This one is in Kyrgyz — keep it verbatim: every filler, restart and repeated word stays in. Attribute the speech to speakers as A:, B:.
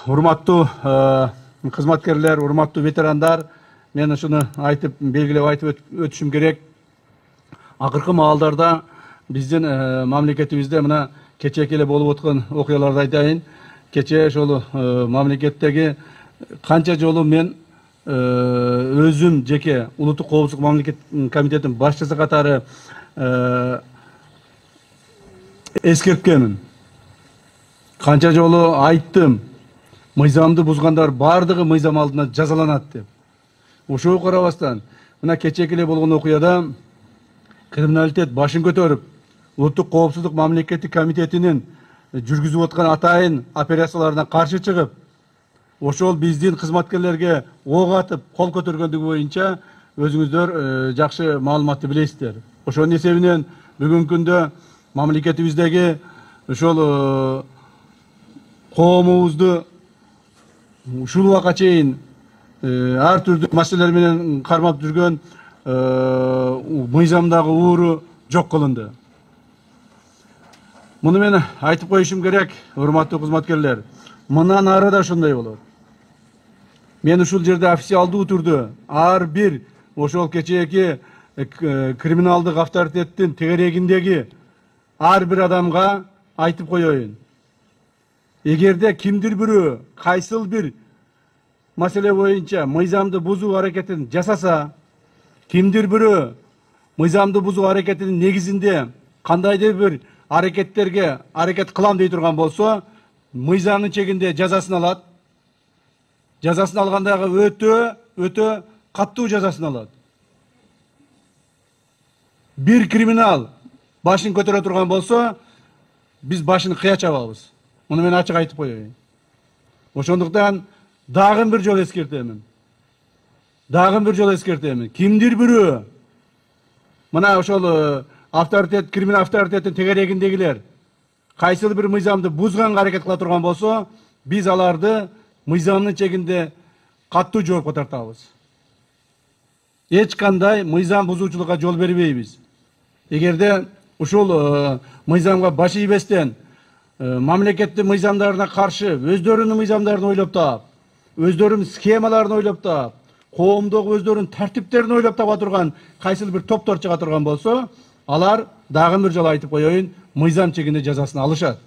A: урматтуу кызматкерлер, урматтуу ветерандар, мен ушуну айтып, белгилеп айтып өтүшүм керек. Акыркы маалдарда биздин мамлекетибизде мына кечээки эле болуп өткөн окуяларды айтайын. Кечээ ошол мамлекеттеги канча жолу мен өзүм жеке улуттук коопсуздук мамлекет комитетинин башчысы катары эскерткенмин. Канча жолу айттым, мыйзамды бузгандар бардыгы мыйзам алдында жазаланат деп. Ошого карабастан, мына кечээки эле болгон окуяда криминалитет башын көтөрүп, улуттук коопсуздук мамлекеттик комитетинин жүргүзүп аткан атайын операцияларына каршы чыгып, ошол биздин кызматкерлерге ок атып, кол көтөргөндүгү боюнча өзүңүздөр жакшы маалыматты билесиздер. Ошонун эсебинен бүгүнкү күндө мамлекетибиздеги ошол коомубузду ушул убакка чейин ар түрдүү маселелер менен кармап жүргөн мыйзамдагы ууру жок кылынды. Муну мен айтып коюшум керек, урматтуу кызматкерлер. Мындан ары да ошондой болот. Мен ушул жерде официалдуу түрдө ар бир ошол кечээки криминалдык авторитеттин тегерегиндеги ар бир адамга айтып коеюн. Эгерде кимдир бирөө кайсыл бир маселе боюнча мыйзамды бузуу аракетин жасаса, кимдир бирөө мыйзамды бузуу аракетинин негизинде кандайдыр бир аракеттерге аракет кылам дей турган болсо, мыйзамдын чегинде жазасын алат. Жазасын алгандагы өтө өтө каттуу жазасын алат. Бир криминал башын көтөрө турган болсо, биз башын кыя чабабыз. Муну мен ачык айтып коеюн. Ошондуктан дагы бир жолу эскертемин. Дагы бир жолу эскертемин. Кимдир бирөө мына ошол авторитет, криминал авторитеттин тегерегиндегилер кайсыл бир мыйзамды бузганга аракет кыла турган болсо, биз аларды мыйзамдын чегинде каттуу жоопко тартабыз. Эч кандай мыйзам бузуучулукка жол бербейбиз. Эгерде ушул мыйзамга баш ийбестен мамлекеттин мыйзамдарына каршы өздөрүнүн мыйзамдарын ойлоп таап, өздөрүнүн схемаларын ойлоп таап, коомдогу өздөрүнүн тартиптерин ойлоп таба турган кайсыл бир топтор чыга турган болсо, алар дагы бир жолу айтып коеюн, мыйзам чегинде жазасын алышат.